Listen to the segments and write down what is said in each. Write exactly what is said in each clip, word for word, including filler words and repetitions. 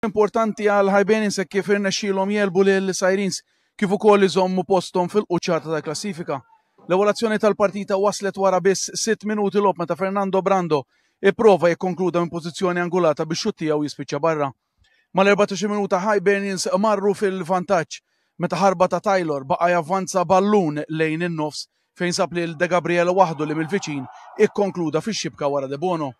Importanti għal Hibernians hekk kif irnexxielhom jegħlbu lil Sirens kif ukoll iżommu posthom fil-quċċata tal-klassifika. L-ewwel azzjoni tal-partita waslet wara biss sitt minuti logħob meta Fernando Brando ipprova jikkonkluda minn pożizzjoni angolata biex xutt tiegħu jispiċċa barra. Mal-erbatax-il minuta Hibernians marru fil-vantaġġ meta ħarba ta' Taylor baqa' javvanza ballun lejn in-nofs fejn sab lil De Gabriele waħdu li mill-viċin ikkonkluda fix-xibka wara De Bono.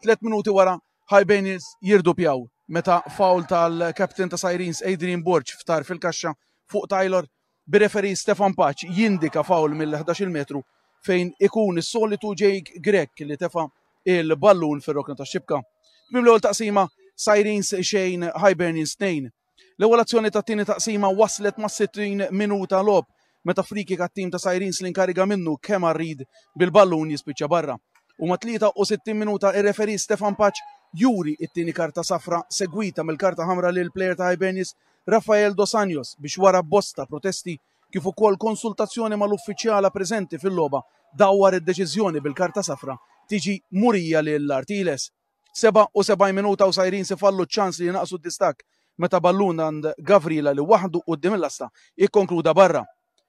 Tliet minuti wara Hibernians jirdupjaw meta foul tal-captain ta' Sirens Adrian Borg ftar fil-kaxxa fuq Taylor bir-referee Stefan Paċ jindika foul mill-ħdax-il metru fejn ikun is-solitu Jake Grech li tefa' il-ballun fir-rokna tax-xibka. Tmiem l-ewwel taqsima Sirens xejn Hibernians tnejn. L-ewwel azzjoni tat-tieni taqsima waslet ma' sittin minuta logħob meta free kick għat-tim ta' Sirens li nkariga minnu Kemar Reid bil-ballun jispiċċa barra. U ma' tlieta u sittin minuta ir-referee Stefan Paċ juri it-tieni karta safra segwita mill-karta ħamra lil player ta' Hibernians Rafael Dos Anjos biex wara bosta protesti kif ukoll konsultazzjoni mal-uffiċjala preżenti fil-logħba dawwar id-deċiżjoni bil-karta safra tiġi murija lil Artiles. Seba' u sebgħin minuta u Sirens ifallu ċans li jinaqsu d-distakk meta ballun għand Gavrila li waħdu quddiem il-lasta ikkonkluda barra.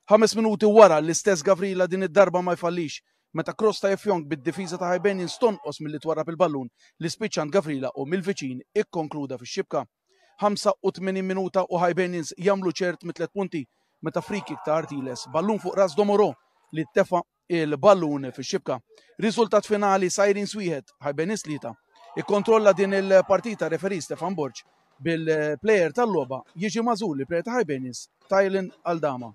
Ħames minuti wara l-istess Gavrila din id-darba ma jfallix meta cross ta' Efjong bid-difiża ta' Hibernians tonqos milli twarrab il-ballun li spiċċa għand Gavrila u mill-viċin ikkonkluda fix-xibka. Ħamsa u tmenin minuta u Hibernians jagħmlu ċert mit-tliet punti meta free kick ta' Artiles ballun fuq ras Domoro li tefa' il-ballun fix-xibka. Riżultat finali Sirens wieħed, Hibernians tlieta. Ikkontrolla din il-partita referee Stefan Borg bil-player tal-logħba jiġi magħżul il-player ta' Hibernians Tylen Aldama.